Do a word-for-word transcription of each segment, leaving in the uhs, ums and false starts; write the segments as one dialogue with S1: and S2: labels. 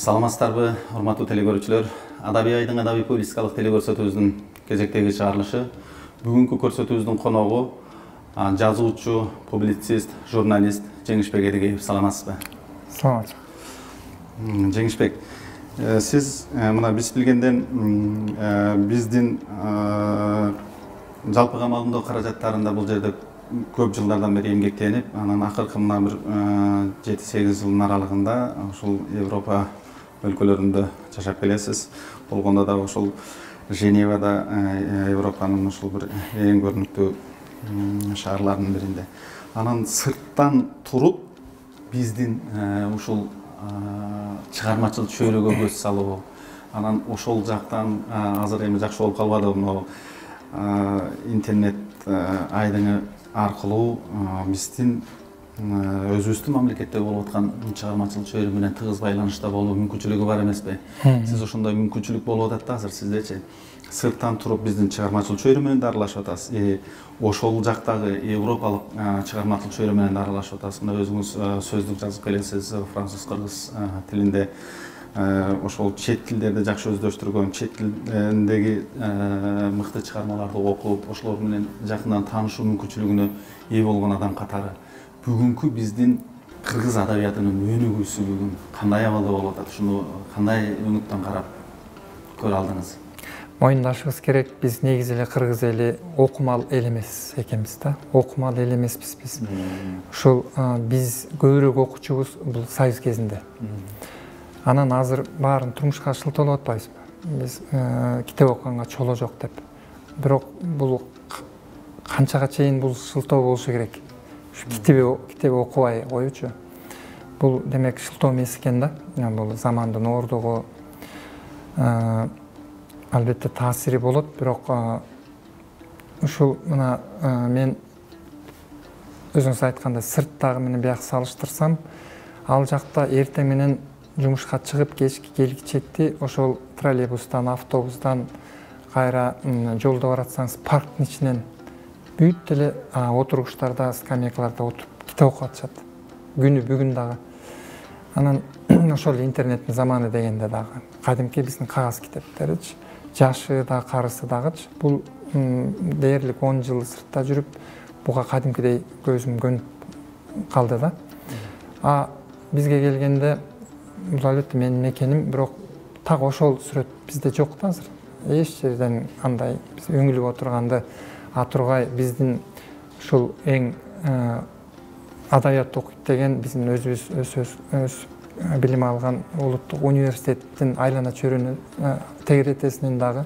S1: Саламатсыздарбы, урматтуу телекөрүүчүлөр. Адабий айдың адабий публистикалык телекөрсөтүүбүздүн кезектеги чыгарылышы. Бүгүнкү көрсөтүүбүздүн коногу жазуучу, публицист, журналист Жеңишбек Эдегеев. Саламатсызбы?
S2: Саламат.
S1: Жеңишбек, сиз мына биз билгенден биздин жалпы камалдоо каражаттарында бул жерде көп жылдардан бери эмгектенип, анан акыркы мына бир жети сегиз жылдын аралыгында ушул Европа өлкөлөрүндө жашап келесиз. Болгондо да ушул Женевада, Европанын ушул бир эң көрүнүктүү шаарларынын биринде. Анан сырттан туруп биздин ушул чыгармачыл чөйрөгө көз салуу, анан ошол жактан азыр эми жакшы болуп калбады, могу интернет айдыңы аркылуу биздин өзүбүздүн мамлекетте болуп аткан чыгармачыл чөйрө менен тыгыз байланышта болуу мүмкүнчүлүгү бар эмеспи? Сиз ошондой мүмкүнчүлүк болуп атат да азыр сиздечи? Сырттан туруп биздин чыгармачыл чөйрө менен да аралашып атасыз. Ошол жактагы европалык чыгармачыл чөйрө менен да аралашып атасыз. Мына өзүңүз сөздүк жазып келесиз француз, кыргыз тилинде. Ошол чет тилдерди жакшы өздөштүргөн, чет тилиндеги мыкты чыгармаларды окуп, ошолор менен жакындан таанышуу мүмкүнчүлүгүнө ээ болгон адам катары бүгүнкү биздин кыргыз адабиятынын өнүгүүсү бүгүн кандай абалда болуп атат? Ушуну кандай өңүттөн карап көрө алдыңыз?
S2: Моюндашыбыз керек, биз негизи эле кыргыз эли окумал эл эмес экенбиз да. Окумал эл эмеспиз биз. Ушул биз көбүрөөк окуучубуз бул Союз кезинде. Анан азыр баарын турмушка шылтоолоп атпайбызбы? Биз китеп окуганга чоло жок деп. Бирок бул канчага чейин бул шылтоо болушу керек? Ушу китеп китеп окубай коючу. Бул демек шылтоо эмес экен да. Бул замандын оордугу, албетте таасири болот, бирок ушул мына мен өзүңүз айткандай сырттагы менен бияк салыштырсам, ал жакта эртең менен жумушка чыгып кечки келгичекти ошол троллейбустан, автобустан кайра жолдо баратсаңыз парктын ичинен бүт эле отургучтарда, скамейкаларда отуруп китеп окуп атышат. Күнү бүгүн дагы. Анан ошол интернеттин заманы дегенде дагы кадимки биздин кагаз китептеричи, жашы да, карысы дагычы бул дээрлик он жыл сыртта жүрүп, буга кадимкидей көзүм көнүп калды да. А бизге келгенде бул албетте менин мекеним, бирок так ошол сүрөт бизде жок да азыр. Эч жерден андай биз өңүлүп отурганды атургай биздин ушул эң адабият окуйт деген биздин өзүбүз өз билим алган улуттук университеттин айлана чөйрөнү тегеретесинен дагы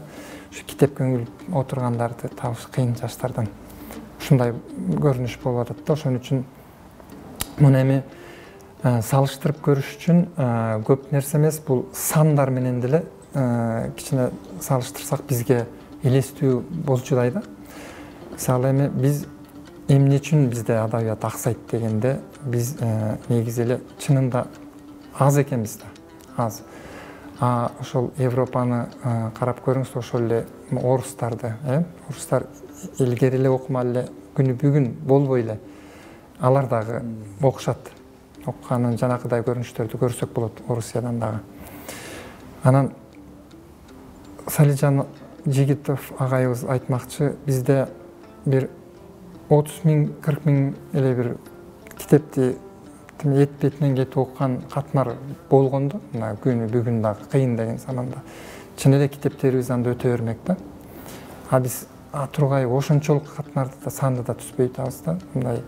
S2: ушу китепке өңүлүп отургандарды табыш кыйын жаштардан. Ушундай көрүнүш болуп атат да. Ошон үчүн муну эми салыштырып көрүш үчүн көп нерсе эмес, бул сандар менен деле кичине салыштырсак бизге элестүү болчудай да. Мисалы эми биз эмне үчүн бизде адабият аксайт дегенде, биз негизи эле чынында аз экенбиз да, аз. А ошол Европаны карап көрүңүз, ошол эле орустарды, э? Орустар илгери эле окумал эле, күнү бүгүн болбой эле алар дагы окушат. Окуганын жанакыдай көрүнүштөрдү көрсөк болот Орусиядан дагы. Анан Салижан Жигитов агайыбыз айтмакчы, бизде бир отуз миң, кырк миң эле бир китепти эт бетинен кетип окуган катмар болгондо, мына күнү бүгүн дагы кыйын деген заманда чын эле китептерибиз анда өтө бермек да. А биз тургай ошончолук катмарды да, санды да түзбөй атабыз да. Мындай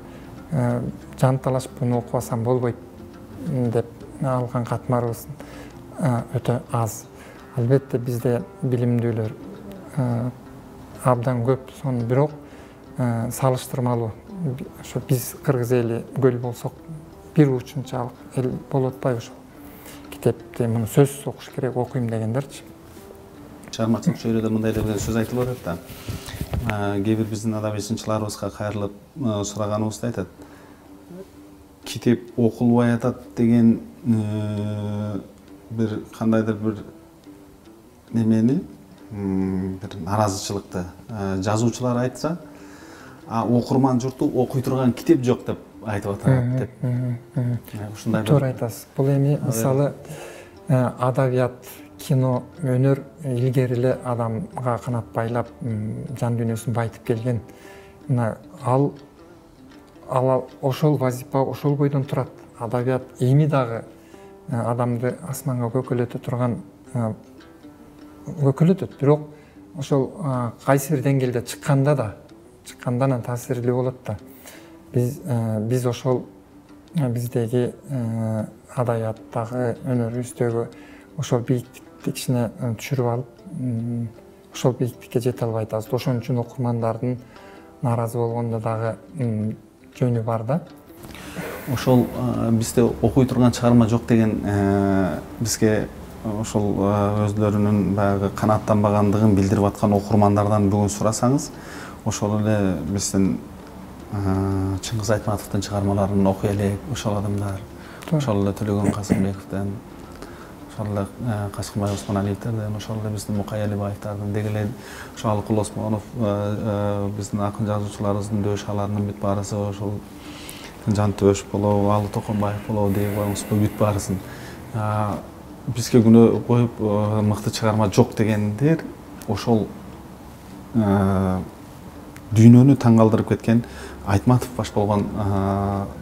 S2: жанталашып буну окубасам болбойт деп алган катмарыбыз өтө аз. Албетте бизде билимдүүлөр абдан көп, сонун, бирок салыштырмалуу. Ошо биз кыргыз эли көл болсок бир учунчалык эл болуп атпайбы ошол. Китепти муну сөзсүз окуш керек, окуйм дегендерчи.
S1: Чыгармачылык чөйрөдө мындай эле сөз айтылып атат да. Кээ бир биздин адабий сынчыларыбызга кайрылып сураганыбызда айтат. Китеп окулбай атат деген бир кандайдыр бир немени, бир наразычылыкты жазуучулар айтса, а окурман журту окуй турган китеп жок деп айтып атат деп.
S2: Ушундай туура айтасыз. Бул эми мисалы адабият, кино, өнөр илгери эле адамга канат байлап, жан дүйнөсүн байытып келген. Мына ал ал ошол вазипа ошол бойдон турат. Адабият эми дагы адамды асманга көкөлөтө турган көкөлөтөт, бирок ошол кайсы бир деңгээлде чыкканда да, чыкканда анан таасирлүү болот да. Биз биз ошол биздеги адабияттагы, өнөрүбүздөгү ошол бийиктикти кичине түшүрүп алып, ошол бийиктикке жете албай атабыз. Ошон үчүн окурмандардын нааразы болгондо дагы жөнү бар да.
S1: Ошол бизде окуй турган чыгарма жок деген бизге ошол өзлөрүнүн баягы канааттанбагандыгын билдирип аткан окурмандардан бүгүн сурасаңыз, ошол эле биздин Чыңгыз Айтматовдун чыгармаларын окуй элек ошол адамдар, ошол эле Төлөгөн Касымбековден, ошол эле Качкынбай Осмоналиевтерден, ошол эле биздин Мукай Алибаевдин, деги эле ошо Алыкул Осмонов, биздин акын жазуучуларыбыздын дөш аларынын бүт баарысы, ошол Жантөш болобу, Алы Токонбаев болобу деп коюңузбу, бүт баарысын бизге күнөө коюп мыкты чыгарма жок дегендер ошол дүйнөнү таң калтырып кеткен Айтматов баш болгон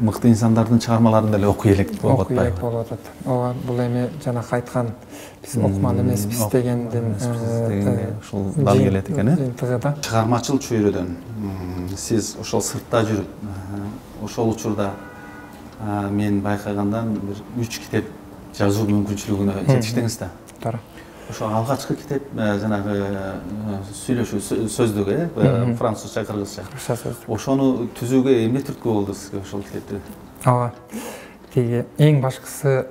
S1: мыкты инсандардын чыгармаларын деле окуй элек болуп атпайбы?
S2: Окуй элек болуп атат. Ооба, бул эми жанакы айткан биз окуман эмеспиз дегендин
S1: ушул дал келет экен, э?
S2: Тыгыда.
S1: Чыгармачыл чөйрөдөн сиз ошол сыртта жүрүп, ошол учурда мен байкагандан бир үч китеп жазуу мүмкүнчүлүгүнө жетиштиңиз да.
S2: Туура.
S1: Ошо алгачкы китеп жанагы сүйлөшүү сөздүк, э, французча, кыргызча.
S2: Кыргызча сөздүк.
S1: Ошону түзүүгө эмне түрткү болду сизге ошол китепти?
S2: Ооба. Тиги эң башкысы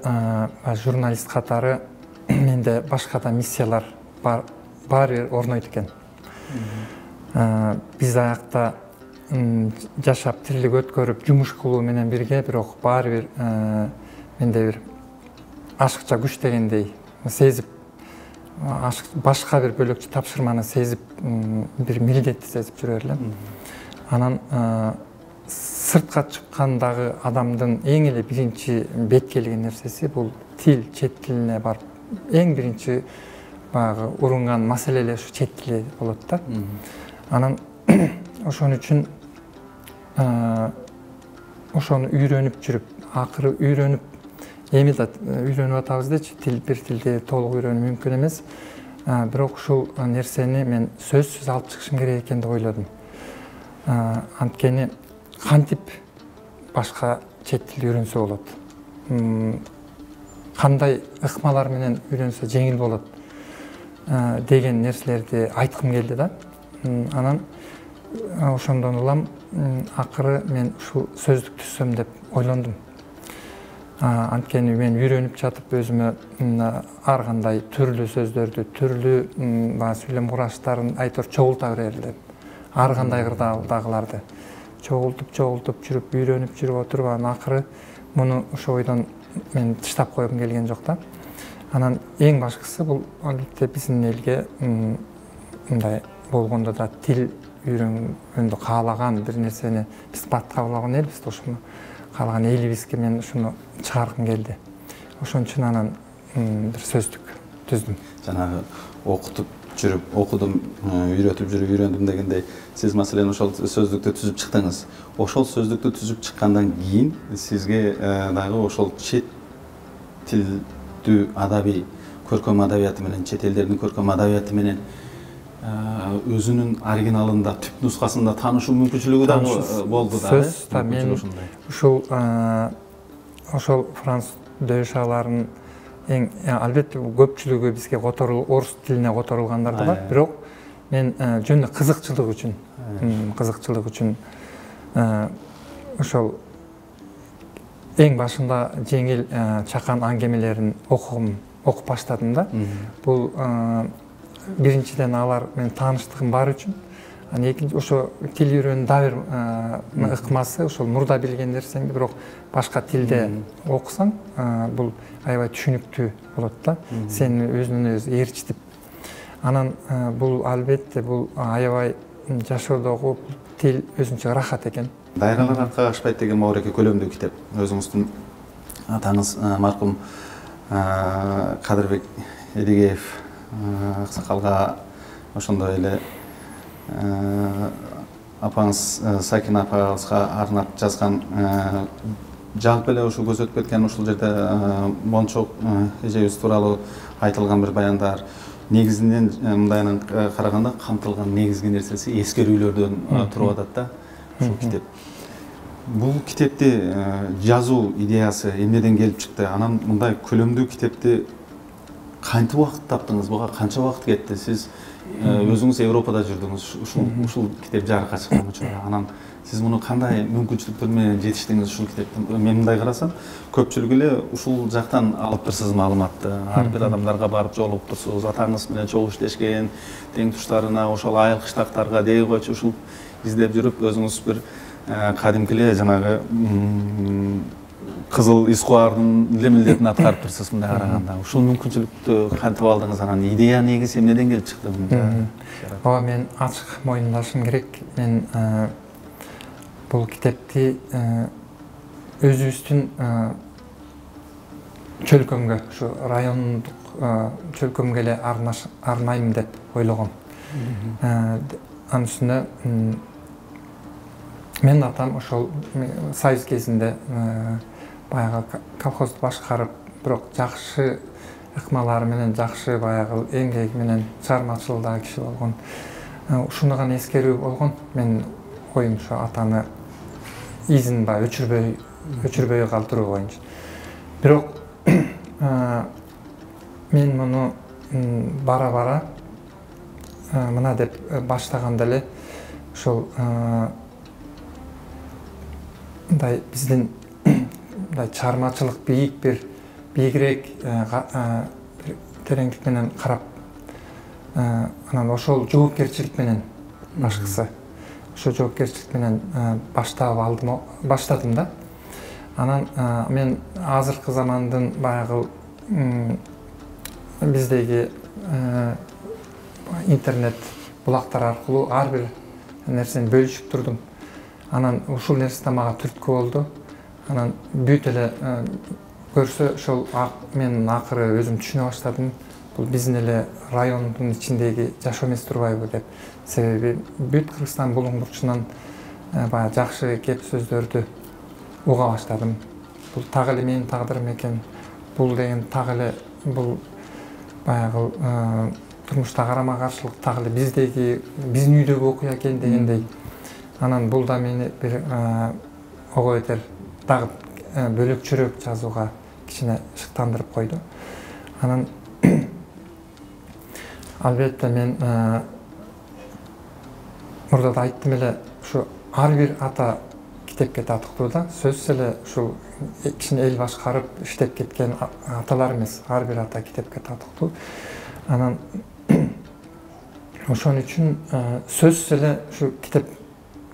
S2: журналист катары менде башка да миссиялар бар, баары бир орнойт экен. Биз аякта жашап, тирилик өткөрүп, жумуш кылуу менен бирге, бирок баары бир менде бир ашыкча күч дегендей сезип, башка бир бөлөкчө тапшырманы сезип, бир милдетти сезип жүрөр элем. Анан сыртка чыккандагы адамдын эң эле биринчи бет келген нерсеси бул тил, чет тилине барып, эң биринчи баягы урунган маселе эле ушу чет тили болот да. Анан ошон үчүн ошону үйрөнүп жүрүп, акыры үйрөнүп, эми да үйрөнүп атабыз дечи, тил бир тилди толук үйрөнүү мүмкүн эмес. Бирок ушул нерсени мен сөзсүз алып чыгышым керек экен деп ойлодум. Анткени кантип башка чет тил үйрөнсө болот? Кандай ыкмалар менен үйрөнсө жеңил болот деген нерселерди айткым келди да. Анан ошондон улам акыры мен ушул сөздүк түзсөм деп ойлондум. Анткени мен үйрөнүп жатып өзүмө ар кандай түрлүү сөздөрдү, түрлүү сүйлөм кураштарын айтор чогулта берели деп. Ар кандай кырдаалдагыларды чогултуп, чогултуп жүрүп, үйрөнүп жүрүп отуруп, анан акыры муну ошо ойдон мен тыштап койгум келген жок да. Анан эң башкысы бул албетте биздин элге мындай болгондо да тил үйрөнгөндө каалаган бир нерсени биз бат кабыл алган элбиз да, ошону каалаган элибизге мен ушуну чыгаргым келди. Ошон үчүн анан бир сөздүк түздүм.
S1: Жанагы окутуп жүрүп, окудум, үйрөтүп жүрүп үйрөндүм дегендей, сиз маселен ошол сөздүктү түзүп чыктыңыз. Ошол сөздүктү түзүп чыккандан кийин сизге дагы ошол чет тилдүү адабий көркөм адабияты менен, чет элдердин көркөм адабияты менен өзүнүн оригиналында, түп нускасында таанышуу мүмкүнчүлүгү дагы болду да.
S2: Сөз да мен ушул ошол француз дөшаларын эң албетте көпчүлүгү бизге которул, орус тилине которулгандар да бар, бирок мен жөн эле кызыкчылык үчүн, кызыкчылык үчүн ошол эң башында жеңил чакан аңгемелерин окугум, окуп баштадым да. Бул биринчиден алар менен тааныштыгым бар үчүн, анан экинчи ошо тил үйрөнүүнүн дагы бир ыкмасы ошол мурда билген нерсеңди бирок башка тилде окусаң, бул аябай түшүнүктүү болот да, сени өзүнөн өзү ээрчитип. Анан бул албетте бул аябай жашоодогу тил өзүнчө рахат экен.
S1: Дайралар аркага ашпайт деген Мауреке көлөмдүү китеп. Өзүңүздүн атаңыз маркум Кадырбек Эдигеев аксакалга ошондой эле апаңыз Сакина апаңызга арнап жазган жалпы эле ушул көрсөтүп кеткен ушул жерде Мончок эжебиз тууралуу айтылган бир баяндар негизинен мындайынан караганда камтылган негизги нерсеси эскерүүлөрдөн туруп атат да ушул китеп. Бул китепти жазуу идеясы эмнеден келип чыкты? Анан мындай көлөмдүү китепти кантип убакыт таптыңыз? Буга канча убакыт кетти? Сиз өзүңүз Европада жүрдүңүз, ушул ушул китеп жарыкка чыккан учурда. Анан сиз муну кандай мүмкүнчүлүктөр менен жетиштиңиз ушул китепти? Мен мындай карасам, көпчүлүк эле ушул жактан алып турсуз маалыматты. Ар бир адамдарга барып жолугуп турсуз, атаңыз менен чогуу иштешкен, тең туштарына, ошол айыл кыштактарга дей койчу ушул издеп жүрүп, өзүңүз бир кадимки эле жанагы кызыл искуардын эле милдетин аткарып турсуз мындай караганда. Ушул мүмкүнчүлүктү кантип алдыңыз? Анан идея негизи эмнеден келип чыкты?
S2: Ооба, мен ачык моюндашым керек. Мен бул китепти өзүбүздүн чөлкөмгө, ушу райондук чөлкөмгө эле арнайм деп ойлогом. Анын үстүнө мен атам ошол союз кезинде баягы колхозду башкарып, бирок жакшы ыкмалары менен, жакшы баягы эмгеги менен чыгармачылыгы киши болгон. Ушуну гана эскерүү болгон. Мен оюм ушу атаны изин баягы өчүрбөй, өчүрбөй калтыруу боюнча. Бирок мен муну бара-бара мына деп баштаганда эле ошол мындай биздин мындай чыгармачылык бийик бир бийигирээк тереңдик менен карап, анан ошол жоопкерчилик менен башкысы ошол жоопкерчилик менен баштап алдым, баштадым да. Анан мен азыркы замандын баягы биздеги интернет булактар аркылуу ар бир нерсени бөлүшүп турдум. Анан ушул нерсе мага түрткү болду. Анан бүт эле көрсө ошол мен акыры өзүм түшүнө баштадым. Бул биздин эле райондун ичиндеги жашоо эмес турбайбы деп. Себеби бүт Кыргызстан булуңдурчунан баягы жакшы кеп сөздөрдү уга баштадым. Бул так эле менин тагдырым экен. Бул деген так эле бул баягы турмушта карама каршылык так эле биздеги биздин үйдөгү окуя экен дегендей. Анан бул да мени бир ого бетер дагы бөлөкчөрөөк жазууга кичине шыктандырып койду. Анан албетте мен мурда да айттым эле, ушу ар бир ата китепке татыктуу да. Сөзсүз эле ушул кичине эл башкарып иштеп кеткен аталар эмес, ар бир ата китепке татыктуу. Анан ошон үчүн сөзсүз эле ушу китеп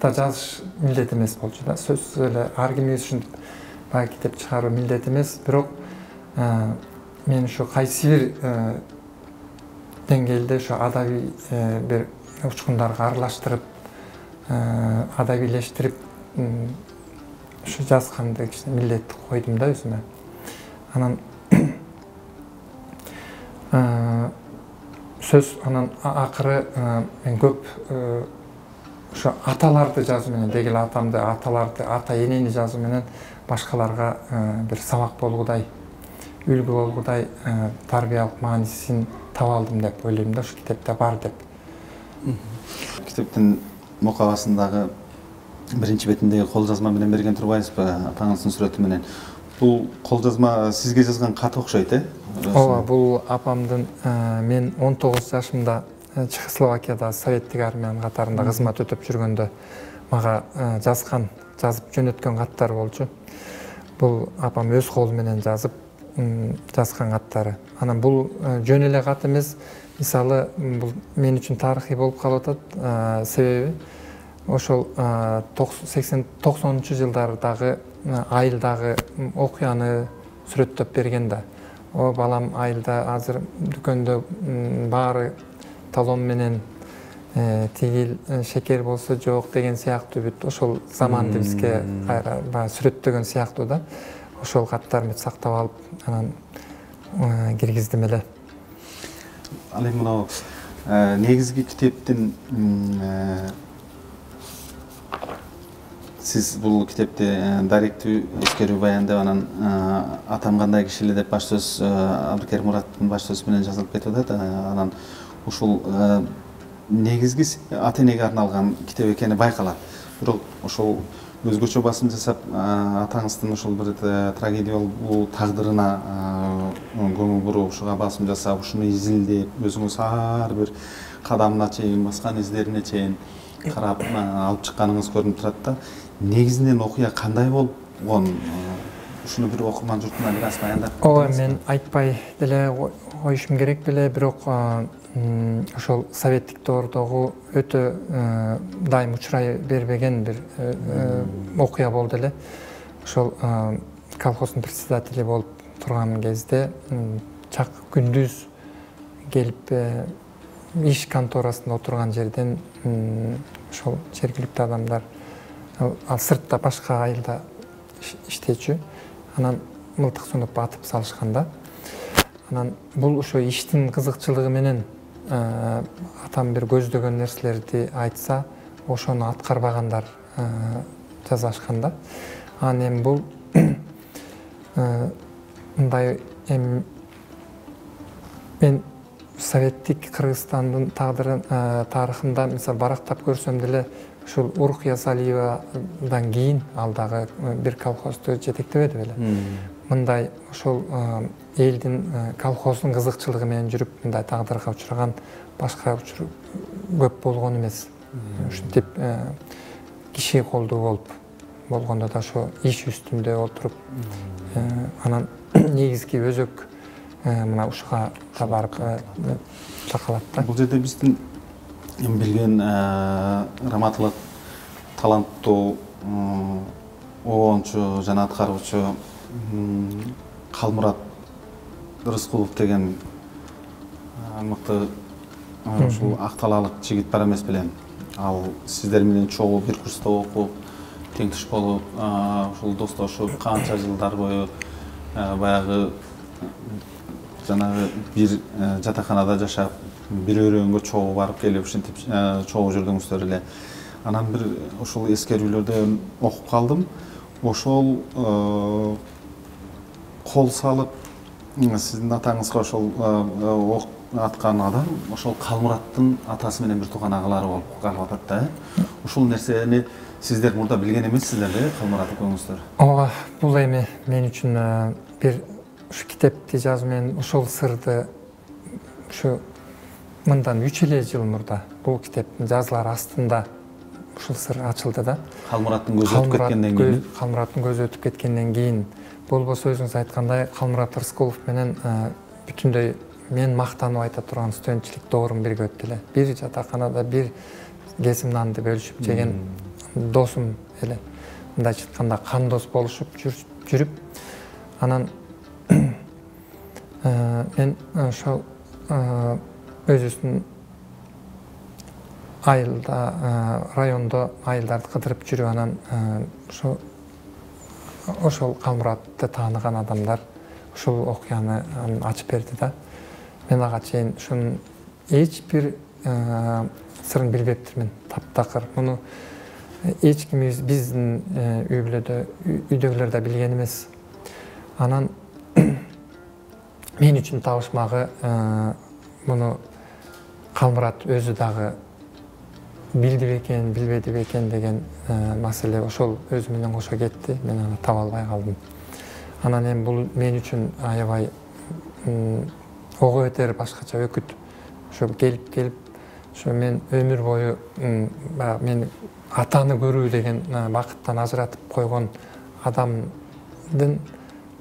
S2: да жазыш милдет эмес болчу да. Сөзсүз эле ар кимибиз ушинтип баягы китеп чыгаруу милдет эмес, бирок мен ушу кайсы бир деңгээлде ушу адабий бир учкундарга аралаштырып, адабийлештирип ушу жазганды кичине милдет койдум да өзүмө. Анан сөз анан акыры мен көп ошо аталарды жазуу менен, деги эле атамды, аталарды, ата энени жазуу менен башкаларга бир сабак болгудай, үлгү болгудай тарбиялык маанисин таба алдым деп ойлойм да, ушу китепте бар деп.
S1: Китептин мукабасындагы биринчи бетиндеги кол жазма менен берген турбайсызбы, атаңыздын сүрөтү менен. Бул кол жазма сизге жазган кат окшойт, э?
S2: Ооба, бул апамдын. Мен он тогуз жашымда Чехословакияда советтик армиянын катарында кызмат өтөп жүргөндө мага жазган, жазып жөнөткөн каттар болчу. Бул апам өз колу менен жазып жазган каттары. Анан бул жөн эле кат эмес, мисалы бул мен үчүн тарыхый болуп калып атат, себеби ошол сексен токсонунчу жылдардагы айылдагы окуяны сүрөттөп берген да. О балам, айылда азыр дүкөндө баары талон менен тигил шекер болсо жок деген сыяктуу бүт ошол заманды бизге кайра баягы сүрөттөгөн сыяктуу да. Ошол каттарымды сактап алып, анан киргиздим эле.
S1: Ал эми мынау негизги китептин сиз бул китепти даректүү эскерүү баян деп анан атам кандай киши эле деп баш сөз Абдыкерим Мураттын баш сөзү менен жазылып кетип атат. Анан ушул негизги ата энеге арналган китеп экени байкалат. Бирок ошол өзгөчө басым жасап атаңыздын ушул бир трагедиялуу тагдырына көңүл буруп, ушуга басым жасап, ушуну изилдеп, өзүңүз ар бир кадамына чейин, баскан издерине чейин карап алып чыкканыңыз көрүнүп турат да. Негизинен окуя кандай болгон? Ушуну бир окурман журтуна бир аз баяндап.
S2: Ооба, мен айтпай деле коюшум керек беле, бирок ошол советтик доордогу өтө дайым учурай бербеген бир окуя болду эле. Ошол колхоздун председатели болуп турган кезде чак күндүз келип иш конторасында отурган жерден ошол жергиликтүү адамдар, ал сыртта башка айылда иштечү, анан мылтык сунуп атып салышканда, анан бул ошо иштин кызыкчылыгы менен атам бир көздөгөн нерселерди айтса, ошону аткарбагандар жазашканда. Анан эми бул мындай эми мен советтик Кыргызстандын тагдырын тарыхында мисалы барактап көрсөм деле ушул Урук Ясалиевадан кийин ал дагы бир колхозду жетектебеди беле. Мындай ошол элдин колхоздун кызыкчылыгы менен жүрүп мындай тагдырга учураган башка учур көп болгон эмес. Ушинтип киши колдуу болуп болгондо да ошо иш үстүндө отуруп анан негизги өзөк мына ушуга да барып такалат да.
S1: Бул жерде биздин билген раматылык таланттуу оончу жана аткаруучу Калмурат Рыскулов деген мыкты ушул акталалык жигит бар эмес белем. Ал сиздер менен чогуу бир курста окуп, теңдеш болуп, ушул достошуп, канча жылдар бою баягы жанагы бир жатаканада жашап, бир өрөөнгө чогуу барып келип, ушинтип чогуу жүрдүңүздөр эле. Анан бир ушул эскерүүлөрдөн окуп калдым. Ошол кол салып сиздин атаңызга ошол ок аткан адам ошол Калмураттын атасы менен бир тууган агалары болуп калып атат да. Ушул нерсени сиздер мурда билген эмессиздер да, Калмурат экөөңүздөр?
S2: Ооба, бул эми мен үчүн бир ушу китепти жазуу менен ошол сырды ушу мындан үч эле жыл мурда бул китептин жазылар астында ушул сыр ачылды да.
S1: Калмураттын көзү өтүп кеткенден кийин.
S2: Калмураттын көзү өтүп кеткенден кийин болбосо өзүңүз айткандай Калмурат Рыскулов менен бүтүндөй мен мактанып айта турган студентчилик доорум бирге өттү эле. Бир жатаканада бир кесим нанды бөлүшүп жеген досум эле. Мындайча айтканда кандос болушуп жүрүп, анан мен ошол өзүбүздүн айылда, райондо айылдарды кыдырып жүрүп, анан ошо ошол Калмуратты тааныган адамдар ушул окуяны ачып берди да. Мен ага чейин ушунун эч бир сырын билбептирмин, таптакыр. Муну эч ким биздин үй бүлөдө, үйдөгүлөр да билген эмес. Анан мен үчүн табышмагы муну Калмурат өзү дагы билди бекен, билбеди бекен деген маселе ошол өзү менен кошо кетти. Мен аны таба албай калдым. Анан эми бул мен үчүн аябай ого өтөр башкача өкүт. Ошо келип келип, ошо мен өмүр бою баягы мени атаны көрүү деген бакыттан ажыратып койгон адамдын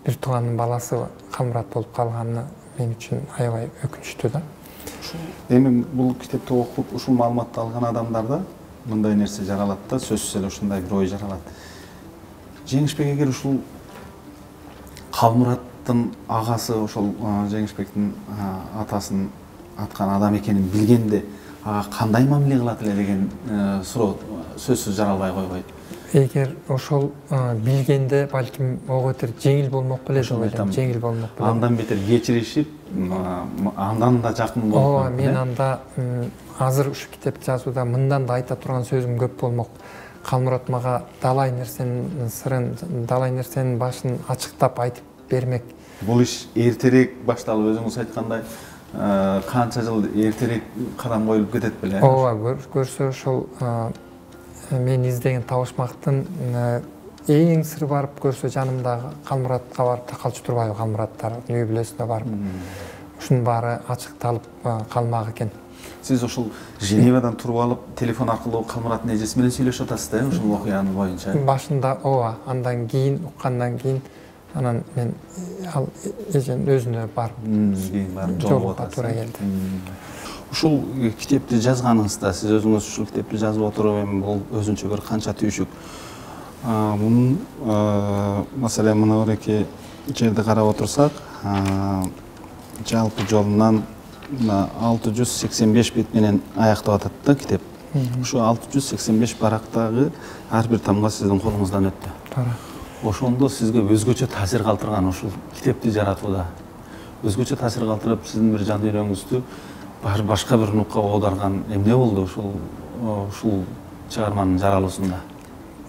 S2: бир тууганын баласы Калмурат болуп калганы мен үчүн аябай өкүнүчтүү да.
S1: Эми бул китепти окуп, ушул маалыматты алган адамдарда мындай нерсе жаралат да, сөзсүз эле ушундай бир ой жаралат. Жеңишбек эгер ушул Калмураттын агасы ошол Жеңишбектин атасын аткан адам экенин билгенде ага кандай мамиле кылат эле деген суроо сөзсүз жаралбай койбойт.
S2: эгер ошол билгенде балким ого бетер жеңил болмок беле деп ойлойм. Жеңил болмок беле.
S1: Андан бетер кечиришип, андан да жакын болмок.
S2: Ооба, мен анда азыр ушу китепти жазууда мындан да айта турган сөзүм көп болмок. Калмурат мага далай нерсенин сырын, далай нерсенин башын ачыктап айтып бермек.
S1: Бул иш эртерээк башталып, өзүңүз айткандай, канча жыл эртерээк кадам коюлуп кетет беле?
S2: Ооба, көрсө ошол мен издеген табышмактын эң сыры барып көрсө жанымдагы Калмуратка барып такалчу турбайбы, Калмураттардын үй бүлөсүнө барып. Ушунун баары ачыкталып калмак экен.
S1: Сиз ошол Женевадан туруп алып, телефон аркылуу Калмураттын эжеси менен сүйлөшүп атасыз да, ушул окуянын боюнча?
S2: Башында ооба, андан кийин уккандан кийин анан мен ал эженин өзүнө барып
S1: кийин барып жолугуп атасыз.
S2: Туура келди.
S1: Ушул китепти жазганыңызда, сиз өзүңүз ушул китепти жазып отуруп, эми бул өзүнчө бир канча түйшүк. Мунун маселен мына бир эки жерди карап отурсак, жалпы жолунан алты жүз сексен беш бет менен аяктап атат да китеп. Ушу алты жүз сексен беш барактагы ар бир тамга сиздин колуңуздан өттү.
S2: Туура.
S1: Ошондо сизге өзгөчө таасир калтырган ушул китепти жаратууда, өзгөчө таасир калтырып, сиздин бир жан дүйнөңүздү башка бир нукка оодарган эмне болду ушул ушул чыгарманын жаралуусунда?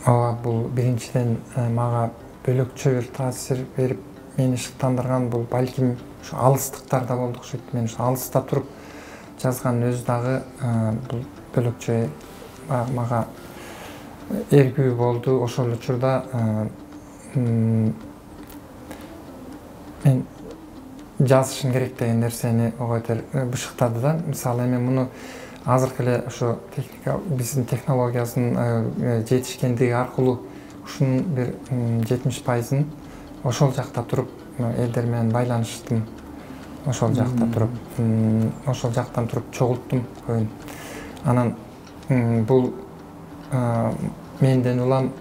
S2: Ооба, бул биринчиден мага бөлөкчө бир таасир берип, мени шыктандырган бул балким ушу алыстыктарда болду окшойт. Мен ушу алыста туруп жазган өзү дагы бул бөлөкчө мага эргүү болду. Ошол учурда мен жазышым керек деген нерсени ого бетер бышыктады да. Мисалы эми муну азыркы эле ошо техника биздин технологиясынын жетишкендиги аркылуу ушунун бир жетимиш пайызын ошол жакта туруп элдер менен байланыштым. Ошол жакта туруп, ошол жактан туруп чогулттум көбүн. Анан бул менден улам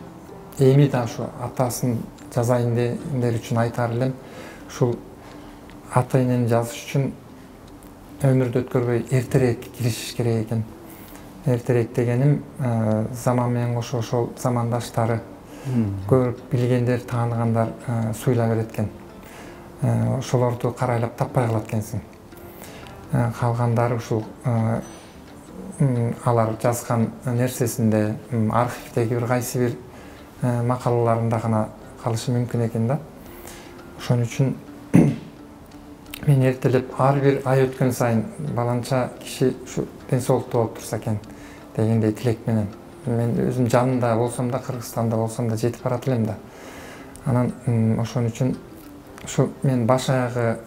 S2: эми да ушу атасын жазайын дегендер үчүн айтар элем, ушул ата энени жазыш үчүн өмүрдү өткөрбөй эртерээк киришиш керек экен. Эртерээк дегеним заман менен кошо ошол замандаштары көрүп билгендер, тааныгандар суйла берет экен. Ошолорду карайлап таппай калат экенсиң. Калгандары ушул алар жазган нерсесинде, архивдеги бир кайсы бир макалаларында гана калышы мүмкүн экен да. Ошон үчүн мен эртелеп ар бир ай өткөн сайын баланча киши ушу ден соолуктуу болуп турса экен дегендей тилек менен. Мен өзүм жанында болсом да, Кыргызстанда болсом да жетип барат элем да. Анан ошон үчүн ушу мен баш аягы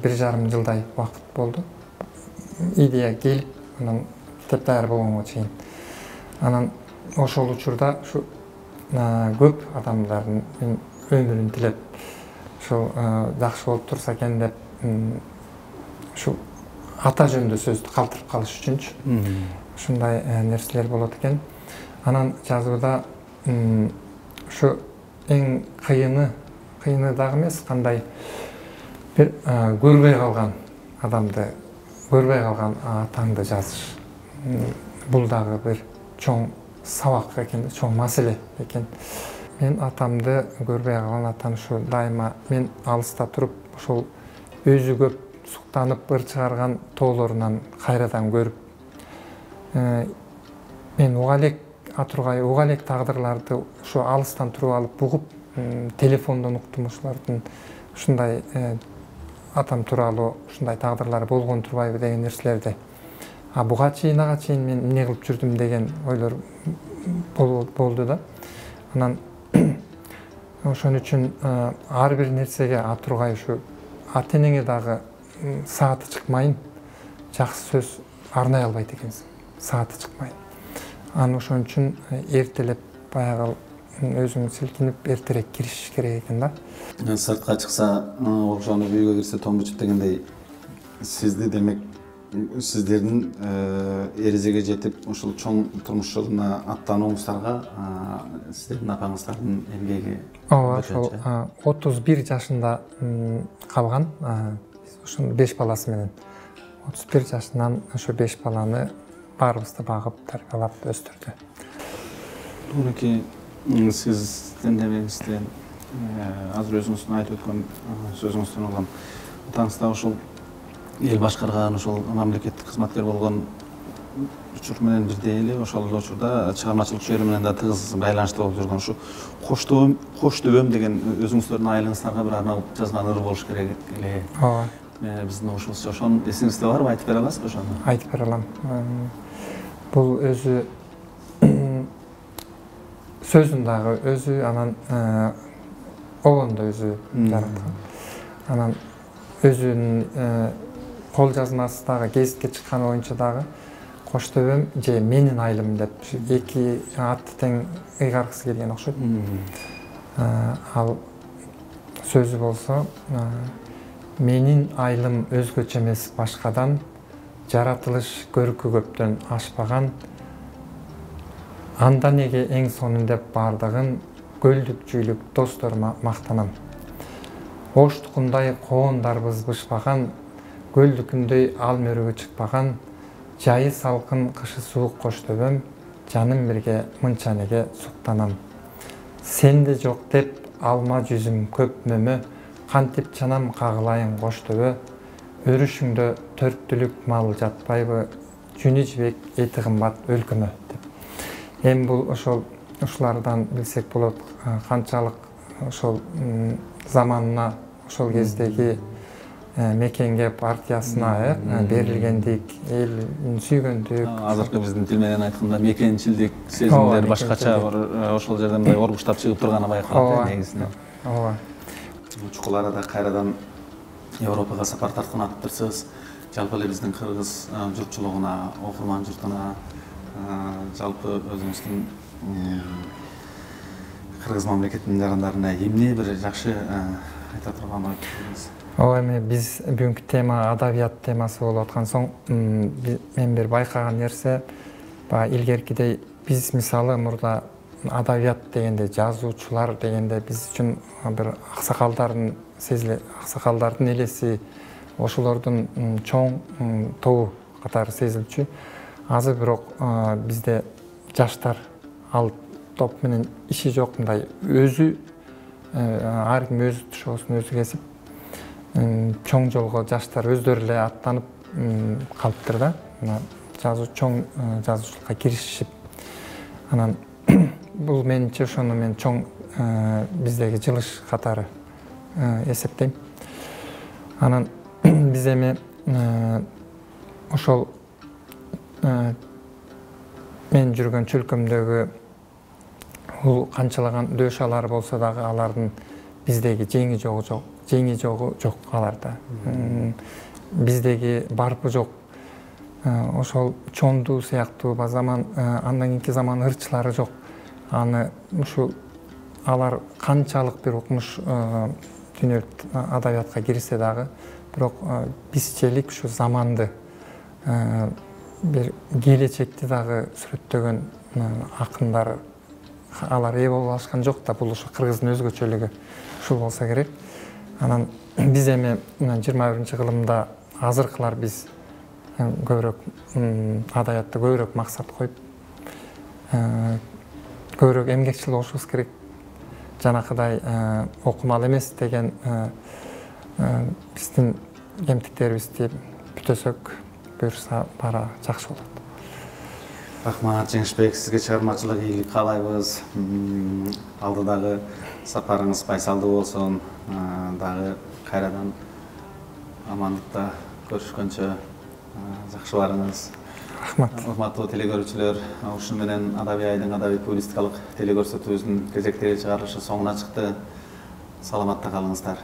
S2: бир жарым жылдай убакыт болду. Идея келип, анан китеп даяр болгонго чейин. Анан ошол учурда ушу көп адамдардын өмүрүн тилеп, ошол жакшы болуп турса экен деп, ушу ата жөнүндө сөздү калтырып калыш үчүнчү ушундай нерселер болот экен. Анан жазууда ушу эң кыйыны, кыйыны дагы эмес, кандай бир көрбөй калган адамды, көрбөй калган атаңды жазыш. Бул дагы бир чоң сабак экен, чоң маселе экен. Мен атамды көрбөй калган, атам ушу дайыма мен алыста туруп, ошол өзү көп суктанып ыр чыгарган тоолорунан кайрадан көрүп, мен уга элек атургай, уга элек тагдырларды ушу алыстан туруп алып угуп, телефондон уктум ушулардын ушундай атам тууралуу ушундай тагдырлары болгон турбайбы деген нерселерди. А буга чейин, ага чейин мен эмне кылып жүрдүм деген ойлор болду да. Анан ошон үчүн ар бир нерсеге атургай ушу ата энеңе дагы сааты чыкмайын, жакшы сөз арнай албайт экенсиң, сааты чыкмайын. Анан ошон үчүн эртелеп баягы өзүң силкинип эртерээк киришиш керек экен да.
S1: Сыртка чыкса, окшонуп үйгө кирсе том бучут дегендей, сизди демек сиздердин эрежеге жетип, ушул чоң турмуш жолуна аттанууңуздарга сиздердин апаңыздардын эмгеги.
S2: Ооба, ошол отуз бир жашында калган, ошо беш баласы менен. отуз бир жашынан ошо беш баланы баарыбызды багып, тарбиялап өстүрдү.
S1: Мынакей Сиздин демеңизден азыр өзүңүздүн айтып өткөн сөзүңүздөн улам атаңыз да ушул эл башкарган, ошол мамлекеттик кызматкер болгон учур менен бирдей эле ошол эле учурда чыгармачылык чөйрө менен да тыгыз байланышта болуп жүргөн ушу кош төбөм кош төбөм деген өзүңүздөрдүн айылыңыздарга бир арналып жазган ыр болуш керек эле.
S2: Ооба.
S1: Биздин ошубузча ошону эсиңизде барбы, айтып бере аласызбы ошону?
S2: Айтып бере алам. Бул өзү сөзүн дагы өзү, анан обон да өзү жараткан. Анан өзүнүн кол жазмасы дагы гезитке чыккан боюнча дагы кош төбөм же менин айылым деп эки атты тең ыйгаргысы келген окшойт. Ал сөзү болсо менин айылым өзгөчө эмес башкадан, жаратылыш көркү көптөн ашпаган, анда неге эң сонун деп бардыгын көлдүк жүүлүк досторума мактанам. Оштукундай коондарбыз бышпаган, көлдүкүндөй ал мөрөгө чыкпаган, жайы салкын кышы суук кош төбөм, жаным бирге мынча неге суктанам. Сенде жок деп алма жүзүм көп мөмө, кантип чанам кагылайын кош төбө, өрүшүңдө төрттүлүк мал жатпайбы, жүнү жибек эти кымбат өлкөмө деп. Эми бул ошол ушулардан билсек болот канчалык ошол заманына, ошол кездеги мекенге, партиясына берилгендик, элин сүйгөндүк.
S1: Азыркы биздин тил менен айтканда мекенчилдик сезимдер башкача ошол жерден мындай оргуштап чыгып турганы байкалат негизинен.
S2: Ооба.
S1: Чукул арада кайрадан Европага сапар тарткан атыптырсыз. Жалпы эле биздин кыргыз журтчулугуна, окурман журтуна, жалпы өзүңүздүн кыргыз мамлекетинин жарандарына эмне бир жакшы айта турган ой пикириңиз?
S2: Ооба, эми биз бүгүнкү тема адабият темасы болуп аткан соң, мен бир байкаган нерсе, баягы илгеркидей биз мисалы мурда адабият дегенде, жазуучулар дегенде биз үчүн бир аксакалдардын сезиле, аксакалдардын элеси, ошолордун чоң тобу катары сезилчү. Азыр бирок бизде жаштар ал топ менен иши жок, мындай өзү ар ким өз тушоосун өзү кесип, чоң жолго жаштар өздөрү эле аттанып калыптыр да. Жазуу чоң жазуучулукка киришишип. Анан бул менимче ошону мен чоң биздеги жылыш катары эсептейм. Анан биз эми ошол мен жүргөн чөлкөмдөгү бул канчалаган дөшалар болсо дагы алардын биздеги жеңи жогу жок, жеңи жогу жок аларда. Биздеги барпы жок. Ошол чонду сыяктуу ба заман, андан кийинки заман ырчылары жок. Аны ушул алар канчалык бир укмуш дүнө адабиятка кирсе дагы, бирок бизчелик ушу заманды, бир келечекти дагы сүрөттөгөн акындар алар ээ болуп алышкан жок да. Бул ушу кыргыздын өзгөчөлүгү ушул болсо керек. Анан биз эми жыйырма биринчи кылымда азыркылар биз көбүрөөк адабиятты көбүрөөк максат коюп, көбүрөөк эмгекчил болушубуз керек. Жанакыдай окумал эмес деген биздин кемтиктерибизди бүтөсөк, буюрса бара жакшы болот.
S1: Рахмат Жеңишбек, сизге чыгармачылык ийгилик каалайбыз. Алдыдагы сапарыңыз байсалдуу болсун. Дагы кайрадан амандыкта көрүшкөнчө жакшы барыңыз.
S2: Рахмат.
S1: Урматтуу телекөрүүчүлөр, ушун менен Адабий айдын адабий публистикалык телекөрсөтүүбүздүн кезектеги чыгарылышы соңуна чыкты. Саламатта калыңыздар.